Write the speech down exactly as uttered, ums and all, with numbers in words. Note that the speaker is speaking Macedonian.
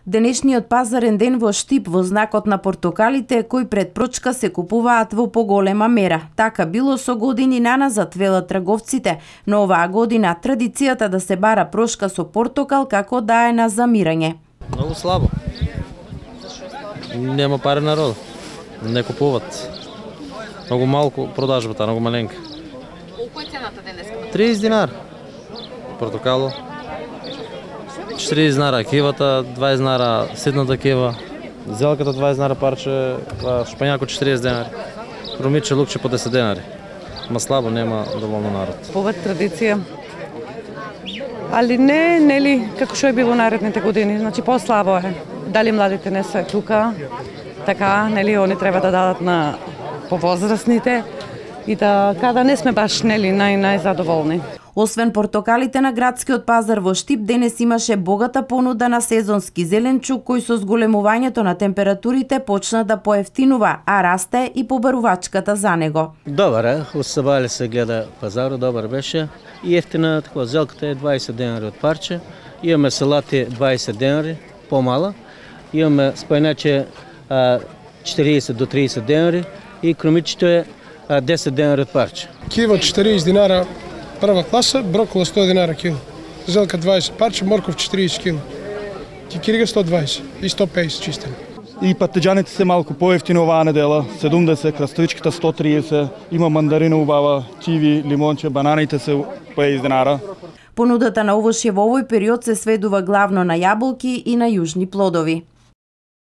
Денешниот пазарен ден во Штип во знакот на портокалите кои пред прочка се купуваат во поголема мера. Така било со години наназад, велат трговците, но оваа година традицијата да се бара прошка со портокал како да е на замирање. Многу слабо. Нема пари народ. Не купуват. Многу малку продажбата, многу маленка. Колку е цената денеска? триесет динар. Портокало. четиридесет динара кивата, дваесет динара ситната кива. Зелката дваесет динара парче, шпањако четиридесет динари. Румиче, лукче по десет динари. Ма слабо, нема доволно народ. Ова традиција. Али не, нели, како што е било наредните години, значи послабо е. Дали младите не се тука, така, нели, они треба да дадат на повозрастните и да када не сме баш, нели, нај најзадоволни. Освен портокалите на градскиот пазар во Штип, денес имаше богата понуда на сезонски зеленчук кој со зголемувањето на температурите почна да поевтинува, а расте и побарувачката за него. Добар е, усабали се гледа пазарот, добар беше. И ефтина, така, зелката е дваесет денари од парче. Имаме салати дваесет денари, помала. Имаме спајначе четиридесет до тридесет денари и кромичето е десет денари од парче. Кива четиридесет динара прва класа, брокола сто динара кило. Зелка дваесет парче, морков четиридесет кило. Кикирига сто дваесет и сто пеесет чистена. И патеџаните се малку поевтини оваа недела, седумдесет, краставичката сто триесет, има мандарина убава, киви, лимонче, бананите се пеесет динара. Понудата на овошје во овој период се сведува главно на јаболки и на јужни плодови.